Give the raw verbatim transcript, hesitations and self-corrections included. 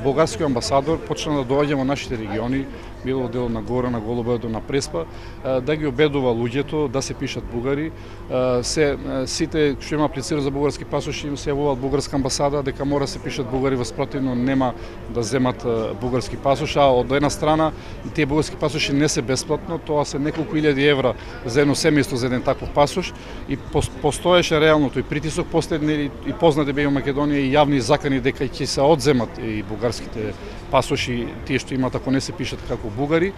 бугарскиот амбасадор почна да доаѓа во нашите региони, било дел на Гора, на Голубоето, на Преспа, да ги обедува луѓето да се пишат бугари. Се сите што има аплицира за бугарски пасоши им се јавуваат бугарска амбасада дека мора се пишат бугари, во спротивно нема да земат бугарски пасош, а од една страна тие бугарски пасоши не се бесплатно, тоа се неколку илјади евра за едно семејство за еден таков пасош и постоеше реално тој притисок, последни и познати беа во Македонија и јавни закани дека ќе се одземат и бугарските пасоши, тие што имаат ако не се пишат како бугари.